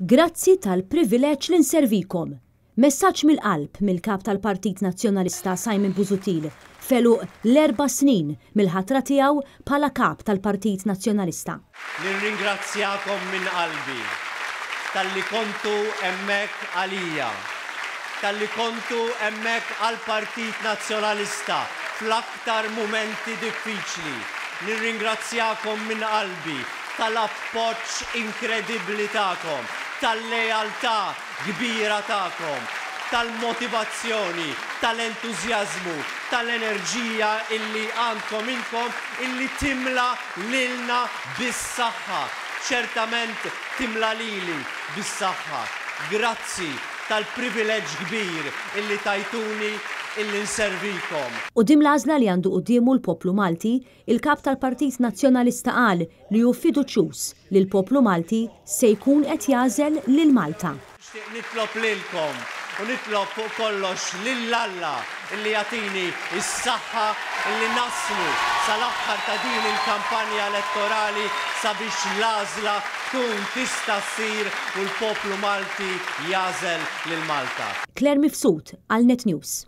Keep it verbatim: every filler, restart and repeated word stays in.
Grazzi tal-privileġġ li nservikom. Messaġġ mill-qalb mill-kap tal-Partit Nazzjonalista Simon Busuttil f'għeluq l-erba' snin mill-ħatra tiegħu bħala kap tal-Partit Nazzjonalista. Nirringrazzjakom minn qalbi talli kontu hemmhekk għalija, talli kontu hemmhekk għall-Partit Nazzjonalista fl-aktar mumenti diffiċli. Nirringrazzjakom minn qalbi tal-appoġġ inkredibbli tagħkom, tal-lealtà kbira tagħkom, tal-motivazzjoni, tal-entużjażmu, tal-enerġija illi għandkom inkom illi timla lilna bis-saħħa. Ċertament timla lili bis-saħħa. Grazzi tal-privileġġ kbir illi tajtuni illi nservikom. Quddiem l-għażla li għandu quddiemu l-poplu Malti, il-kap tal-Partit Nazzjonalista qal li hu fiduċjuż li l-poplu Malti se jkun qed jagħżel lil Malta. Nixtieq nitlob lilkom u nitlob fuq kollox lil Alla illi jagħtini s-saħħa illi naslu sal-aħħar ta' din il-kampanja elettorali sabiex l-għażla tkun tista' ssir u l-poplu Malti jagħżel lil Malta. Claire Mifsud għal Net News.